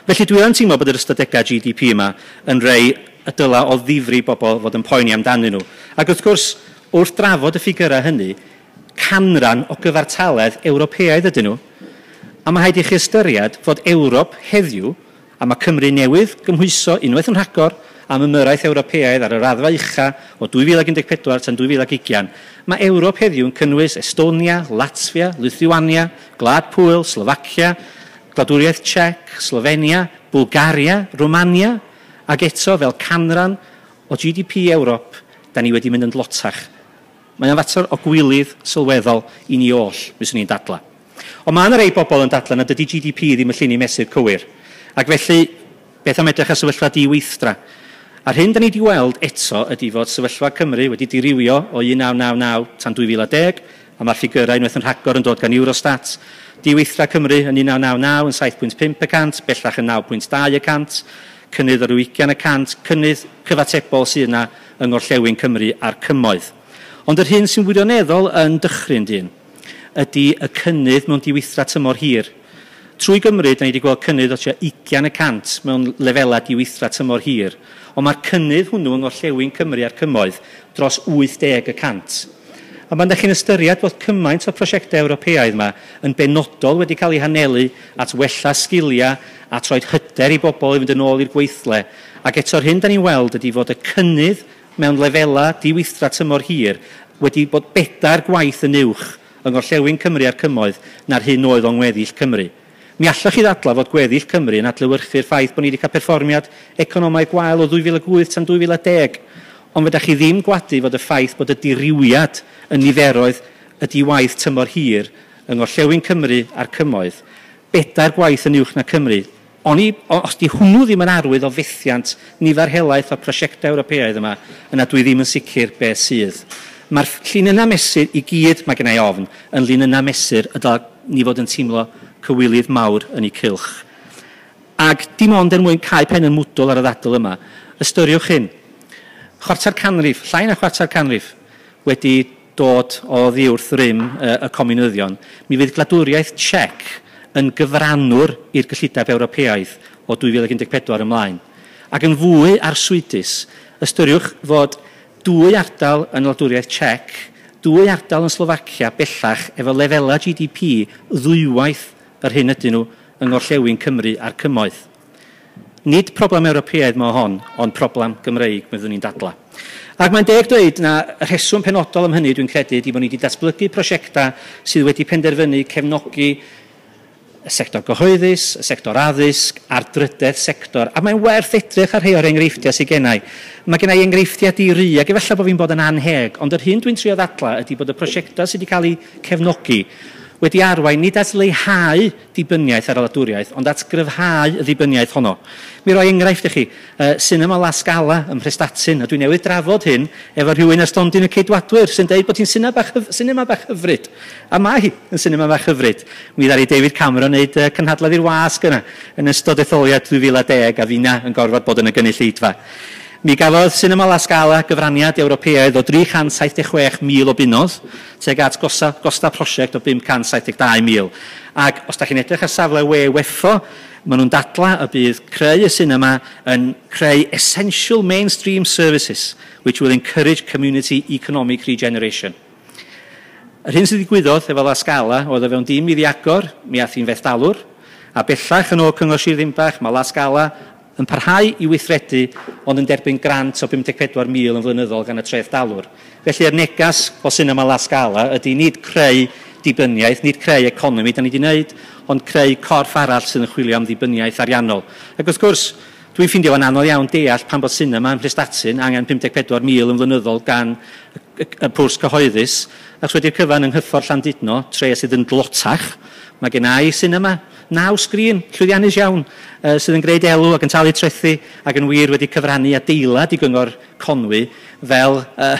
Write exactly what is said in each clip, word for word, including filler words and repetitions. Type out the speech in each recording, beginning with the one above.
Felly dwi yn teimlo bod yr ystadegau G D P yma yn rei y dyla o ddifri bobl fod yn poeni amdanyn nhw. Ac wrth gwrs, wrth drafod y ffigurau hynny, canran o gyfartaledd Ewropeaidd ydyn nhw. A mae rhaid i chi ystyried fod Ewrop heddiw, a mae Cymru newydd gymhwyso unwaith yn rhagor am ymyrraeth Ewropeaidd ar y raddfa ucha o dwy fil ac un deg pedwar tan dwy fil ac ugain, mae Ewrop heddiw yn cynnwys Estonia, Latvia, Lithuania, Gwlad Pwyl, Slofacia, Gwladwriaeth Czech, Slovenia, Bulgaria, Romania, ac eto fel canran o G D P Ewrop, da ni wedi mynd yn dlotach. Mae'n fater o gwilydd sylweddol i ni oll, fyswn i'n dadla. Ond mae yna rei bobl yn dadla nad ydy G D P ddim y llinyn mesur cywir. Ac felly, beth am edrych ar sefyllfa diweithdra? A'r hyn da ni wedi weld eto ydy fod sefyllfa Cymru wedi dirywio o un naw naw naw tan dwy fil a deg, a mae'r ffigurau unwaith yn rhagor yn dod gan Eurostat. Diweithdra Cymru yn un naw naw naw yn saith pwynt pump y cant, bellach yn naw pwynt dau y cant, cynnydd o ryw ugain y cant, cynnydd cyfatebol sydd yna yng Ngorllewin Cymru a'r Cymoedd. Ond yr hyn sy'n wirioneddol yn dychryn dyn ydy y cynnydd mewn diweithdra tymor hir. Trwy Gymru, da ni wedi gweld cynnydd o tua ugain y cant mewn lefelau diweithdra tymor hir, ond mae'r cynnydd hwnnw yng Ngorllewin Cymru a'r Cymoedd dros wyth deg y cant. A pan ydych chi'n ystyried bod cymaint o prosiectau Ewropeaidd yma yn benodol wedi cael eu hanelu at wella sgiliau a troed hyder i bobl i fynd yn ôl i'r gweithle, ac eto'r hyn da ni'n weld ydy fod y cynnydd mewn lefelau diweithdra tymor hir wedi bod bedair gwaith yn uwch yng Ngorllewin Cymru a'r Cymoedd na'r hyn oedd o'n ngweddill Cymru. Mi allwch chi ddadlau fod gweddill Cymru yn adlewyrchu'r ffaith bod ni wedi cael perfformiad economaidd gwael o ddwy fil ac wyth tan dwy fil a deg, ond fedrwch chi ddim gwadu fod y ffaith bod y dirywiad yn niferoedd y diwaith tymor hir yng Ngorllewin Cymru a'r Cymoedd bedair gwaith yn uwch na Cymru. Oni, os di hwnnw ddim yn arwydd o fethiant nifer helaeth o prosiectau Ewropeaidd yma, yna dwi ddim yn sicr beth sydd. Mae'r llinynnau mesur i gyd, mae gen i ofn, yn llinynnau mesur y dylai ni fod yn teimlo cywilydd mawr yn eu cylch. Ac dim ond er mwyn cau pen yn mwdwl ar y ddadl yma, ystyriwch hyn. Chwarter canrif, llai na chwarter canrif, wedi dod o ddiwrth rym y, y comiwnyddion, mi fydd gwladwriaeth Czech yn gyfrannwr i'r gyllideb Ewropeaidd o dwy fil ac un deg pedwar ymlaen. Ac yn fwy arswydus, ystyriwch fod dwy ardal yn wladwriaeth Czech, dwy ardal yn Slofacia bellach efo lefelau G D P ddwywaith yr hyn ydyn nhw yng Ngorllewin Cymru a'r Cymoedd. Nid problem Ewropeaidd mo hon, ond problem Gymreig, byddwn ni'n dadla. Ac mae'n deg dweud na y rheswm penodol am hynny dwi'n credu ydy bod ni wedi datblygu prosiectau sydd wedi penderfynu cefnogi y sector gyhoeddus, y sector addysg a'r drydedd sector. A mae'n werth edrych ar rhai o'r enghreifftiau sydd gennau. Mae gennau enghreifftiau di-ri, ac efallai bod fi'n bod yn anheg, ond yr hyn dwi'n trio ddadla ydy bod y prosiectau sydd wedi cael eu cefnogi wedi arwain nid at leihau dibyniaeth ar y wladwriaeth, ond at gryfhau y ddibyniaeth honno. Mi roi enghraifft i chi, uh, Sinema La Scala ym Mhrestatyn, a dwi newydd drafod hyn efo rhywun ar stondin y Ceidwadwyr sy'n deud bod hi'n sinema bach, sinema bach hyfryd. A mae hi yn sinema bach hyfryd. Mi ddaru David Cameron wneud uh, cynhadledd i'r wasg yna yn ystod etholiad dwy fil a deg, a finna yn gorfod bod yn y gynulleidfa. Mi gafodd Sinema La Scala gyfraniad Ewropeaidd o dri chant saith deg chwech mil o bunnoedd, tuag at gosta, gosta prosiect o bum cant saith deg dau mil. Ac os da chi'n edrych ar safle we WEFO, maen nhw'n dadla y bydd creu y sinema yn creu essential mainstream services which will encourage community economic regeneration. Yr hyn sydd ddigwyddodd efo La Scala oedd o fewn dim iddi agor, mi ath hi'n fethdalwr, a bellach yn ôl Cyngor Sir Ddinbych, mae La Scala yn parhau i weithredu, ond yn derbyn grant o bum deg pedwar mil yn flynyddol gan y trethdalwr. Felly, yr negas o Sinema La Scala ydy nid creu dibyniaeth, nid creu economi, da ni wedi wneud, ond creu corff arall sydd yn chwilio am ddibyniaeth ariannol. Ac wrth gwrs, dwi'n ffeindio fo'n anodd iawn deall pan bod sinema ym Mhrestatyn angen pum deg pedwar mil yn flynyddol gan y, y pwrs cyhoeddus, achos wedi'r cyfan yng Nghyffordd Llandudno, tre sydd yn dlotach, mae gen i sinema naw sgrin, llwyddiannus iawn, uh, sydd yn gwneud elw ac yn talu trethu ac yn wir wedi cyfrannu adeilad i Gyngor Conwy fel uh,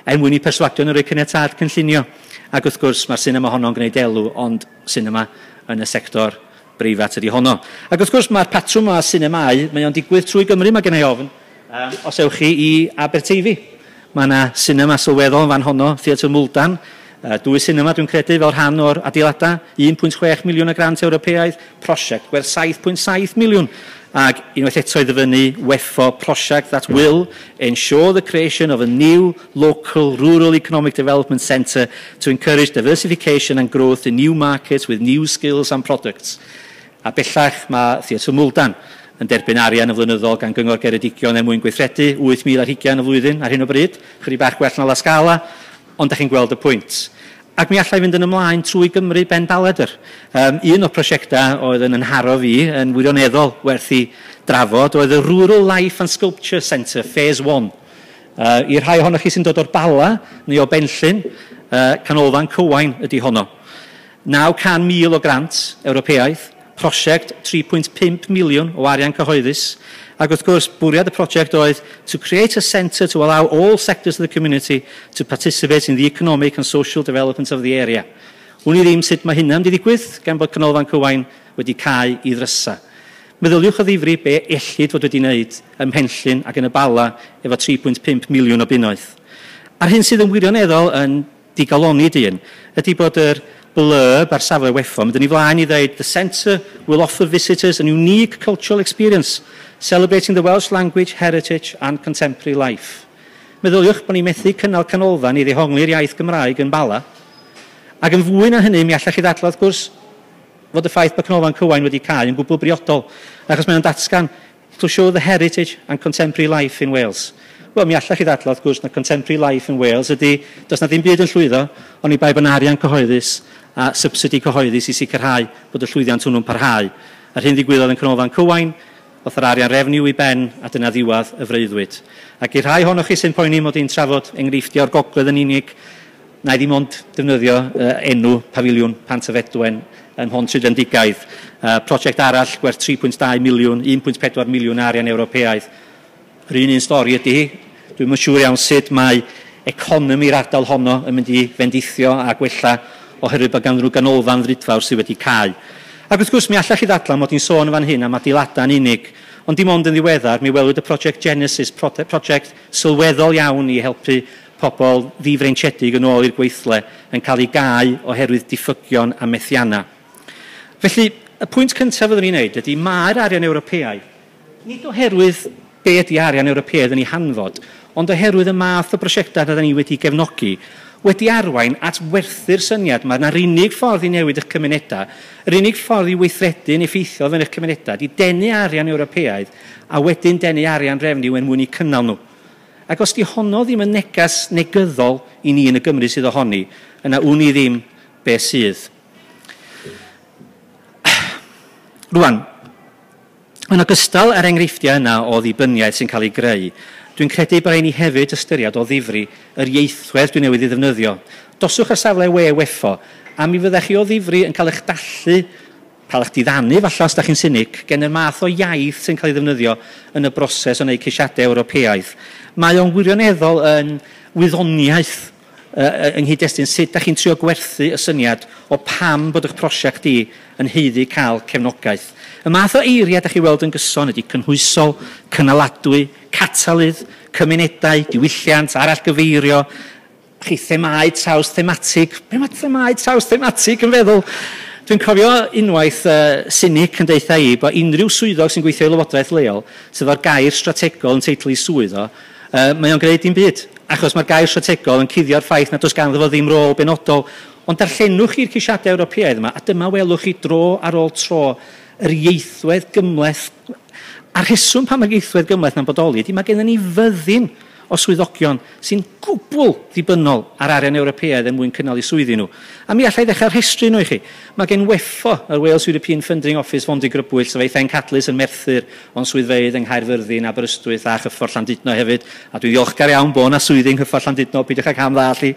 er mwyn i perswadio nhw roi caniatâd cynllunio. Ac wrth gwrs mae'r sinema honno'n gwneud elw, ond sinema yn y sector breifat ydy honno. Ac wrth gwrs mae'r patrwm o sinemâu, mae o'n digwydd trwy Gymru, mae gen i ofn. Um, os ewch chi i Aberteifi, mae yna sinema sylweddol yn fan honno, Theatr Mwldan, Dwy sinema dwi'n credu fel rhan o'r adeiladau, un pwynt chwech miliwn o grant Ewropeaidd, prosiect gwerth saith pwynt saith miliwn. Ac unwaith eto i ddyfynnu WEFO project that will ensure the creation of a new local rural economic development centre to encourage diversification and growth in new markets with new skills and products. A bellach mae Theatr Mwldan yn derbyn arian yn flynyddol gan Gyngor Geredigion er mwyn gweithredu wyth mil ar hugain y flwyddyn ar hyn o bryd, chydig bach gwell na La Scala, ond da chi'n gweld y pwynt. Ac mi allai fynd yn ymlaen trwy Gymru ben baledr. Um, un o'r prosiectau oedd yn ynharo fi yn wirioneddol werth i drafod oedd y Rural Life and Sculpture Centre Phase one. Uh, I'r rhai ohonoch chi sy'n dod o'r Bala neu o Benllyn, uh, Canolfan Cywain ydy honno. naw can mil o grant Ewropeaidd, prosiect tri pwynt pump miliwn o arian cyhoeddus, ac wrth gwrs, bwriad y prosiect oedd to create a centre to allow all sectors of the community to participate in the economic and social development of the area. Wn i ddim sut mae hynna'n mynd i ddigwydd, gan bod Canolfan Cywain wedi cau i ddrysa. Meddyliwch o ddifri be ellid fod wedi wneud ym Mhenllyn ac yn y Bala efo tri pwynt pump miliwn o bunnoedd. A'r hyn sydd yn wirioneddol yn digalonni dyn ydy bod yr blurb ar safle WEFO, mynd yn ei flaen i ddweud, the centre will offer visitors an unique cultural experience, celebrating the Welsh language, heritage and contemporary life. Meddyliwch bod ni'n methu cynnal canolfan i ddehongli'r iaith Gymraeg yn Bala, ac yn fwy na hynny, mi allech chi ddadlau, wrth gwrs, fod y ffaith bod Canolfan Cywain wedi cau yn gwbl briodol, achos mae'n datgan to show the heritage and contemporary life in Wales. Wel, mi allech chi ddadlau, wrth gwrs, na contemporary life in Wales ydy, does na ddim byd yn llwyddo, ond i bai bod arian cyhoeddus a subsidy cyhoeddus i sicrhau bod y llwyddiant hwnnw'n parhau. A'r hyn ddigwyddodd yn Canolfan Cywain, oedd yr arian refniw i ben a dyna ddiwedd y freuddwyd. Ac i'r rhai ohonoch chi sy'n poeni mod i'n trafod enghreifftiau o'r gogledd yn unig, na i ddim ond defnyddio uh, enw Pafiliwn Pantyfedwen yn Mhontrhydfendigaid. Uh, prosiect arall gwerth tri pwynt dau miliwn, un pwynt pedwar miliwn arian Ewropeaidd. Yr un un stori ydy hi. Dwi'm yn siŵr iawn sut mae economi'r ardal honno yn mynd i fendithio a gwella oherwydd bod ganddyn nhw ganolfan ddrudfawr sydd wedi cau. Ac wrth gwrs, mi allech chi ddadlau mod i'n sôn fan hyn am adeiladau'n unig, ond dim ond yn ddiweddar, mi welwyd y prosiect Genesis, prosiect sylweddol iawn i helpu pobl ddifreintiedig yn ôl i'r gweithle yn cael ei gau oherwydd diffygion a methiannau. Felly, y pwynt cyntaf fyddwn ni'n neud ydy mae'r arian Ewropeaidd, nid oherwydd be ydy arian Ewropeaidd yn ei hanfod, ond oherwydd y math o brosiectau na ni wedi gefnogi, wedi arwain at werthu'r syniad. Mae yna'r unig ffordd i newid eich cymunedau, yr unig ffordd i weithredu'n effeithiol yn eich cymunedau, di denu arian Ewropeaidd a wedyn denu arian refniw er mwyn i cynnal nhw. Ac os di honno ddim yn negas negyddol i ni yn y Gymru sydd ohoni, yna wn i ddim be sydd. Rwan, yn ogystal â'r enghreifftiau yna o ddibyniaeth sy'n cael ei greu, dwi'n credu bod rhaid ni hefyd ystyried o ddifri yr ieithwedd dwi newydd ei ddefnyddio. Doswch ar safle we WEFO, a mi fyddech chi o ddifri yn cael eich dallu, cael eich diddanu falle os da chi'n sinig, gen yr math o iaith sy'n cael ei ddefnyddio yn y broses o wneud ceisiadau Ewropeaidd. Mae o'n wirioneddol yn wyddoniaeth uh, yng nghyd-destun sut da chi'n trio gwerthu y syniad o pam bod eich prosiect i yn haeddu cael cefnogaeth. Y math o eiriau da chi weld yn gyson ydy cynhwysol, cynaladwy, catalydd, cymunedau, diwylliant, arallgyfeirio, chi themau traws thematig. Be mae themau traws thematig yn feddwl? Dwi'n cofio unwaith uh, cynic yn deutha i bod unrhyw swyddog sy'n gweithio i lywodraeth leol sydd o'r gair strategol yn teitl i swydd o, uh, mae o'n gwneud dim byd, achos mae'r gair strategol yn cuddio'r ffaith nad oes ganddo fo ddim rôl benodol. Ond darllenwch chi'r ceisiadau Ewropeaidd yma, a dyma welwch chi dro ar ôl tro yr ieithwedd gymhleth. A'r rheswm pam mae'r ieithwedd gymhleth na'n bodoli ydy mae gennym ni fyddin o swyddogion sy'n gwbl ddibynnol ar arian Ewropeaidd er mwyn cynnal eu swyddi nhw. A mi allai ddechrau rhestru nhw i chi. Mae gen WEFO, yr Wales European Funding Office, Fondigrybwyll, sef ei phencadlys yn Merthyr, ond swyddfeydd yng Nghaerfyrddin, Aberystwyth a Chyffordd Llandudno hefyd. A dwi'n ddiolchgar iawn bod yna swyddi yng Nghyffordd Llandudno, peidiwch ag ham ddall i.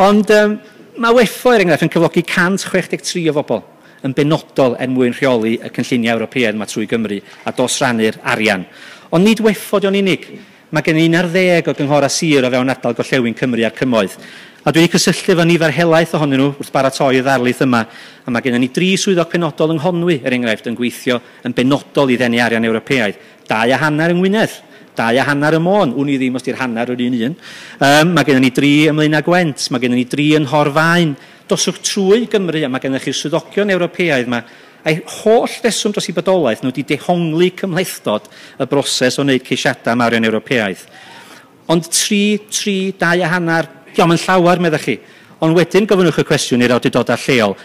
Ond um, mae WEFO, er enghraifft, yn cyflogi cant chwech deg tri o bobl yn benodol er mwyn rheoli y cynlluniau Ewropeaidd yma trwy Gymru a dosrannu'r arian. Ond nid WEFO dio'n unig. Mae gen i un ar ddeg o gynghorau sir o fewn ardal gorllewin Cymru a'r Cymoedd. A dwi wedi cysylltu efo nifer helaeth ohonyn nhw wrth baratoi y ddarlith yma. A mae gennym ni dri swyddog penodol yng Nghonwy, er enghraifft, yn gweithio yn benodol i ddenu arian Ewropeaidd. Dau a hanner yng Ngwynedd, Dau a hanner ym Môn, wn i ddim os di'r hanner yr un un. Um, mae gennym ni dri ym Mlaenau Gwent, mae gennym ni dri yn Nhorfaen. Doswch trwy Gymru a mae gennych chi'r swyddogion Ewropeaidd yma. A'i holl reswm dros eu bodolaeth nhw wedi dehongli cymhlethdod y broses o wneud ceisiadau am arian Ewropeaidd. Ond tri, tri, dau a hanner, diolch yn llawer, meddech chi. Ond wedyn gofynnwch y cwestiwn i'r awdurdodau lleol.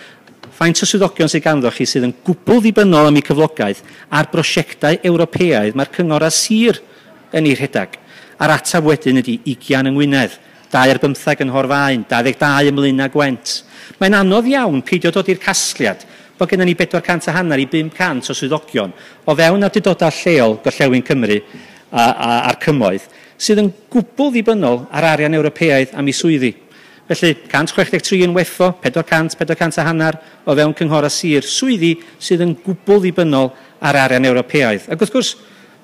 Faint o swyddogion sydd ganddo chi sydd yn gwbl ddibynnol am eu cyflogaeth ar brosiectau Ewropeaidd mae'r cyngor a sir yn ei rhedeg? A'r ateb wedyn ydy ugain yng Ngwynedd, dau ar bymtheg yn Nhorfaen, dau ddeg dau ym Mlaenau Gwent. Mae'n anodd iawn peidio dod i'r casgliad bod gennym ni bedwar cant a hanner i bum cant o swyddogion o fewn awdurdodau lleol Gorllewin Cymru a, a, a'r Cymoedd sydd yn gwbl ddibynnol ar arian Ewropeaidd am eu swyddi. Felly, cant chwech deg tri yn W E F O, pedwar cant, pedwar cant a hanner o fewn cynghora sir, swyddi sydd yn gwbl ddibynnol ar arian Ewropeaidd. Ac wrth gwrs,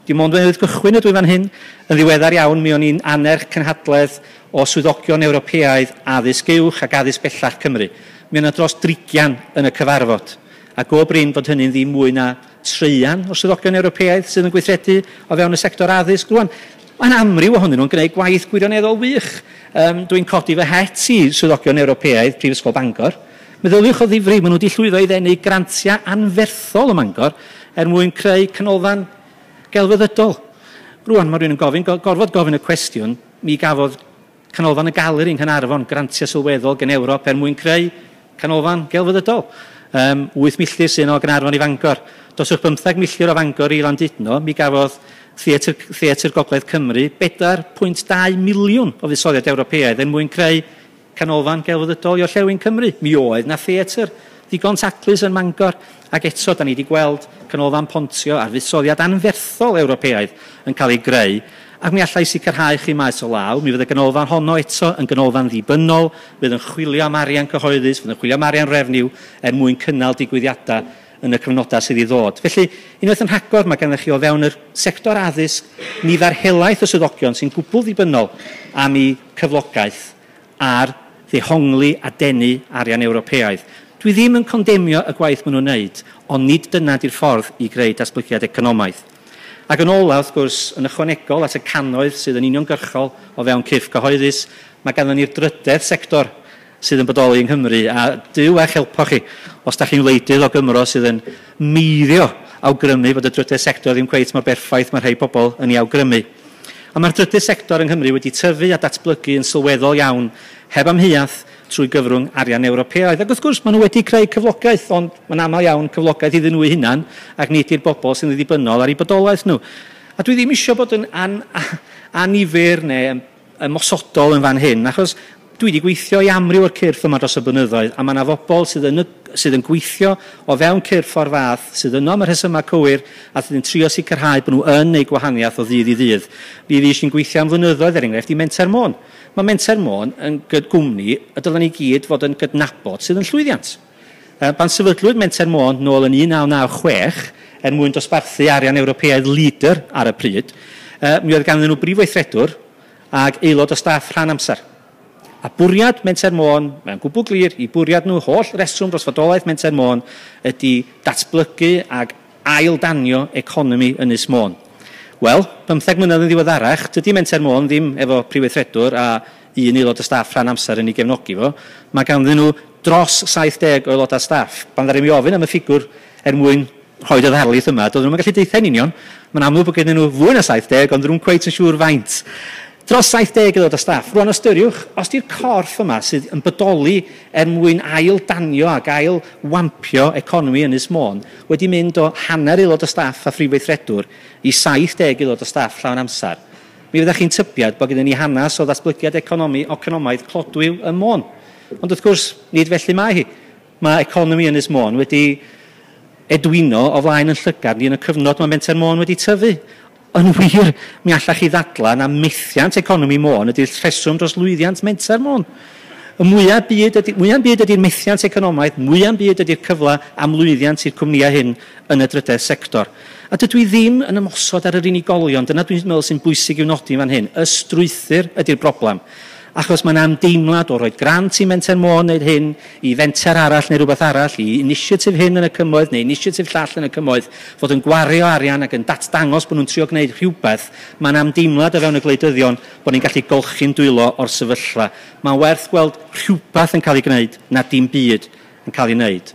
dim ond newydd gychwyn ydw i fan hyn. Yn ddiweddar iawn, mi o'n i'n annerch cynhadledd o swyddogion Ewropeaidd addysg uwch ac addysg bellach Cymru. Mi yna dros drigian yn y cyfarfod. A go brin bod hynny'n ddim mwy na treian o swyddogion Ewropeaidd sydd yn gweithredu o fewn y sector addysg. Rwan, mae'n amryw ohonyn nhw'n gwneud gwaith gwirioneddol wych. Um, dwi'n codi fy het i swyddogion Ewropeaidd Prifysgol Bangor. Meddyliwch o ddifri, maen nhw wedi llwyddo i ddenu grantiau anferthol ym Mangor er mwyn creu canolfan gelfyddydol. Rwan, mae rhywun yn gofyn, gorfod gofyn y cwestiwn, mi gafodd Canolfan y Galeri yng Nghaernarfon grantiau sylweddol gen Ewrop er mwyn creu canolfan gelfyddydol. Um, wyth milltir sy'n o Gaernarfon i Fangor. Doswch bymtheg milltir o Fangor i Landudno, mi gafodd Theatr, Theatr Gogledd Cymru bedwar pwynt dau miliwn o fuddsoddiad Ewropeaidd er mwyn creu canolfan gelfyddydol i Orllewin Cymru. Mi oedd na theatr ddigon taclus yn Mangor, ac eto da ni wedi gweld canolfan Pontio ar fuddsoddiad anferthol Ewropeaidd yn cael ei greu, ac mi allai sicrhau chi maes o law, mi fydd y ganolfan honno eto yn ganolfan ddibynnol, fydd yn chwilio am arian cyhoeddus, fydd yn chwilio am arian refniw er mwyn cynnal digwyddiadau yn y cyfnodau sydd i ddod. Felly, unwaith yn rhagor, mae gennych chi o fewn yr sector addysg nifer helaeth o swyddogion sy'n gwbl ddibynnol am eu cyflogaeth ar ddehongli a denu arian Ewropeaidd. Dwi ddim yn condemio y gwaith maen nhw'n wneud, ond nid dyna di'r ffordd i greu datblygiad economaidd. Ac yn ola, wrth gwrs, yn ychwanegol at y cannoedd sydd yn uniongyrchol o fewn cyrff cyhoeddus, mae ganddon ni'r drydedd sector sydd yn bodoli yng Nghymru, a Duw a'ch helpo chi os da chi'n wleidydd o Gymro sydd yn meiddio awgrymu bod y drydedd sector ddim cweit mor berffaith mae rhai pobl yn ei awgrymu. A mae'r drydydd sector yng Nghymru wedi tyfu a datblygu yn sylweddol iawn, heb amheuaeth, trwy gyfrwng arian Ewropeaidd. Ac wrth gwrs, maen nhw wedi creu cyflogaeth, ond mae'n aml iawn cyflogaeth iddyn nhw eu hunan, ac nid i'r bobl sy'n ddibynnol ar eu bodolaeth nhw. A dwi ddim eisiau bod yn an, anifyr neu ymosodol yn fan hyn, achos dwi wedi gweithio i amryw o'r cyrff yma dros y blynyddoedd, a mae yna fobl sydd yn, sydd yn gweithio o fewn cyrff o'r fath, sydd yno am y rhesymau cywir, a sydd yn trio sicrhau bod nhw yn eu gwahaniaeth o ddydd i ddydd. Fi fi eisiau'n gweithio am flynyddoedd, er enghraifft, i Menter Môn. Mae Menter Môn yn gwmni y dylen ni gyd fod yn gydnabod sydd yn llwyddiant. Pan sefydlwyd Menter Môn nôl yn un naw naw chwech, er mwyn dosbarthu arian Ewropeaidd leader ar y pryd, mi oedd ganddyn nhw brif weithredwr ac aelod o staff rhan amser. A bwriad Menter Môn, mae'n gwbl glir, i bwriad nhw, holl reswm dros fodolaeth Menter Môn ydy datblygu ac aildanio economi Ynys Môn. Wel, bymtheg mlynedd yn ddiweddarach, dydy Menter Môn ddim efo prif weithredwr a un aelod o staff rhan amser yn ei gefnogi fo. Mae ganddyn nhw dros saith deg o aelodau staff. Pan ddaru mi ofyn am y ffigwr er mwyn rhoi y ddarlith yma, doedden nhw'n gallu deutha yn union. Mae'n amlwg bod gennyn nhw fwy na saith deg, ond nhw'n cweit yn siŵr faint. Dros saith deg aelod o staff. Rwan ystyriwch, os di'r corff yma sydd yn bodoli er mwyn ail-danio ac ail-wampio economi Ynys Môn wedi mynd o hanner aelod o staff a phrif weithredwr i saith deg aelod o staff llawn amser, mi fyddech chi'n tybiad bod gennym ni hanes o ddatblygiad economi, economaidd clodwiw ym Môn. Ond wrth gwrs, nid felly mae hi. Mae economi Ynys Môn wedi edwino o flaen yn llygad ni yn y cyfnod mae Menter Môn wedi tyfu. Yn wir, mi allach chi ddadlau na methiant economi Môn ydy'r rheswm dros lwyddiant Menter Môn. Y mwyaf byd ydy, mwyaf byd ydy'r methiant economaidd, mwyaf byd ydy'r cyfle am lwyddiant i'r cwmnïau hyn yn y drydedd sector. A dydw i ddim yn ymosod ar yr unigolion, dyna dwi'n meddwl sy'n bwysig i'w nodi fan hyn. Y strwythur ydy'r broblem. Achos mae'n ymdeimlad o roi grant i Menter Môn wneud hyn, i fenter arall neu rhywbeth arall, i initiative hyn yn y cymoedd neu initiative llall yn y cymoedd, fod yn gwario arian ac yn datdangos bod nhw'n trio gwneud rhywbeth, mae'n ymdeimlad o fewn y gwleidyddion bod ni'n gallu golchi'n dwylo o'r sefyllfa. Mae'n werth gweld rhywbeth yn cael ei gwneud na dim byd yn cael ei wneud.